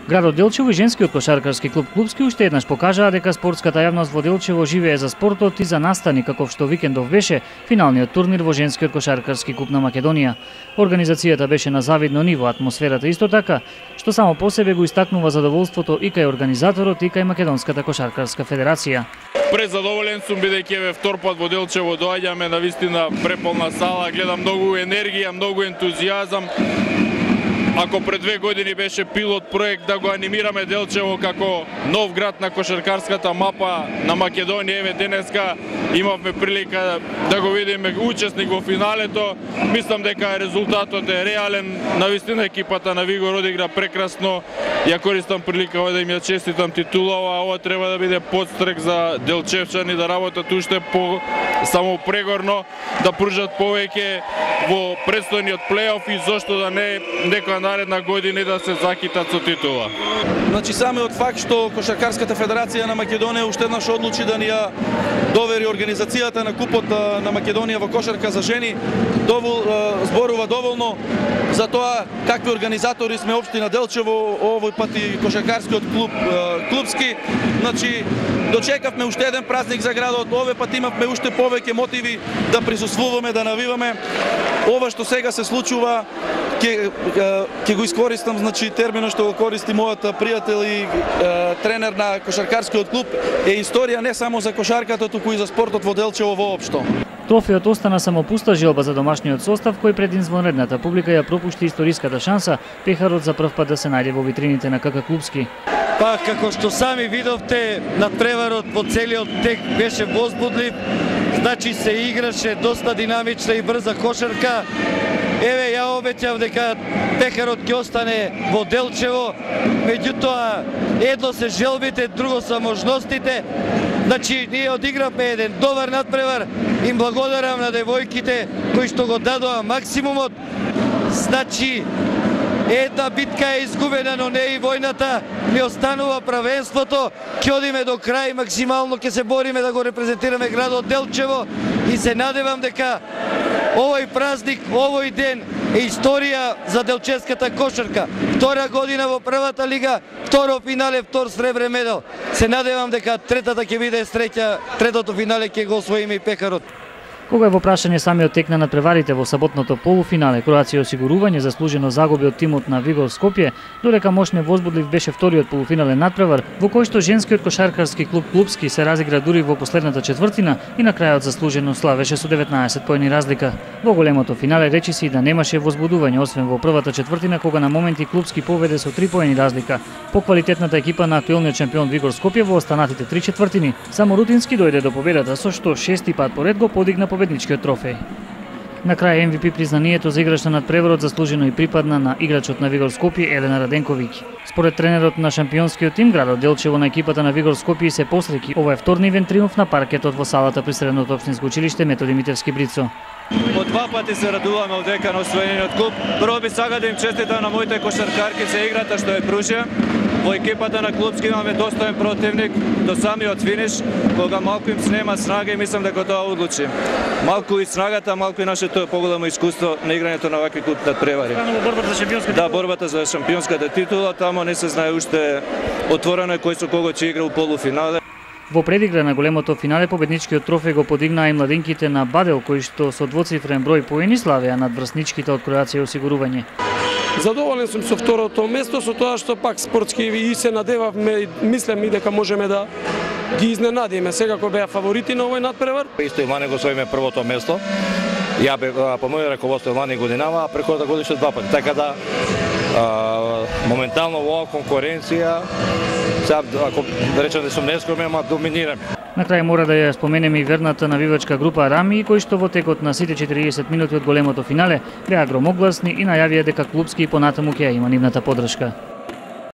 Градот Делчево и женскиот кошаркарски клуб Клупски уште еднаш покажаа дека спортската јавност во Делчево живее за спортот и за настани, каков што викендов беше финалниот турнир во женскиот кошаркарски клуб на Македонија. Организацијата беше на завидно ниво, атмосферата исто така, што само по себе го истакнува задоволството и кај организаторот и кај Македонската кошаркарска федерација. Презадоволен сум бидејќи еве втор пат во Делчево доаѓаме на вистина преполна сала, гледам многу енергија, многу ентузијазам. Ако пред 2 години беше пилот проект да го анимираме Делчево како нов град на кошаркарската мапа на Македонија, еве денеска имавме прилика да го видиме учесник во финалето. Мислам дека резултатот е реален. Навистина екипата на Вигор одигра прекрасно. Ја користам прилика да им ја честитам титулава. Ова треба да биде подстрек за делчевчани да работат уште само прегорно, да пружат повеќе во предстојниот плейоф и зошто да не некоја наредна година да се закитат со титула. Значи самиот факт што Кошаркарската федерација на Македонија уште еднаш одлучи да ни ја довери организацијата на купот на Македонија во кошарка за жени, зборува доволно за тоа какви организатори сме општина Делчево, овој пат и кошаркарскиот клуб Клупски. Значи дочекавме уште еден празник за градот, овој пат имавме уште повеќе мотиви да присуствуваме, да навиваме. Ова што сега се случува, ќе го искористам, значи терминот што го користи мојот пријател и тренер на кошаркарскиот клуб, е историја не само за кошарката, туку и за спортот во Делчево воопшто. Трофеот остана само пуста желба за домашниот состав, кој пред извонредната публика ја пропушти историската шанса пехарот за прв пат да се најде во витрините на КК Клупски. Па, како што сами видовте, надпреварот во целиот тек беше возбудлив, значи се играше доста динамична и брза кошарка. Еве, ја обеќав дека пехарот ќе остане во Делчево, меѓутоа едно се желбите, друго се можностите. Значи, ние одигравме еден добар надпревар, им благодарам на девојките кои што го дадоа максимумот. Значи, една битка е изгубена, но не и војната, ни останува правенството, ќе одиме до крај, максимално ќе се бориме да го репрезентираме градот Делчево и се надевам дека овој празник, овој ден е историја за делчевската кошарка. Втора година во првата лига, второ финале, втор сребрен медал. Се надевам дека третата ќе биде среќа, третото финале ќе го освоиме и пехарот. Кога е во прашање самиот тек на надпреварите во саботното полуфинале, Кроација осигурување заслужено загуби од тимот на Вигор Скопје, додека мощно возбудлив беше вториот полуфинален надпревар, во кој што женскиот кошаркарски клуб Клупски се разигра дури во последната четвртина и на крајот заслужено славеше со 19 поени разлика. Во големото финале речиси да немаше возбудување, освен во првата четвртина, кога на моменти Клупски поведе со 3 поени разлика. По квалитетната екипа на актуелниот шампион Вигор Скопје во останатите 3 четвртини, само Рутински дојде до победата, со што 6-ти пат поред го подигна победничкиот трофеј. На крај MVP признанието за играч на надпреварот заслужено и припадна на играчот на Вигор Скопје Елена Раденковиќ. Според тренерот на шампионскиот тим, градот Делчево на екипата на Вигор Скопје се посреќи. Ова е вторнивен триумф на паркетот во салата при Средното општинско училиште Методи Митевски Брицо. По 2 пати се радуваме од дека на освоениот куп. Прво би сакал да им честитам на моите кошаркарки за играта што е пружија. Во екипата на Клупски имаме достоен противник до самиот финиш, кога малку им снема снага и мислам дека тоа одлучи. Малку и снагата, малку и нашето поголемо искуство на играњето на вакви клуб надпревари. Борбата за шампионската титула? Да, борбата за шампионската титула, тамо не се знае уште отворено кој со кого ќе игра у полуфинале. Во предигра на големото финале победничкиот трофеј го подигнаа и младинките на Бадел, кои што со двоцифрен број поени славеа над врсничките од Кроација осигурување. Задоволен сум со второто место, со тоа што пак спортски и се надевавме, мислам и дека можеме да ги изненадиме. Секако беа фаворити на овој надпревар. Исто и лани го освоиме првото место. Ја бе по моје раководство лани годинава, а преходната годиште 2 пати. Така да моментално во оваа конкуренција, сега ако да речем да сум нескромен, ама доминираме. На крај мора да ја споменеме и верната навивачка група Рами, кои што во текот на сите 40 минути од големото финале беа громогласни и најавија дека Клупски и понатаму ќе има нивната поддршка.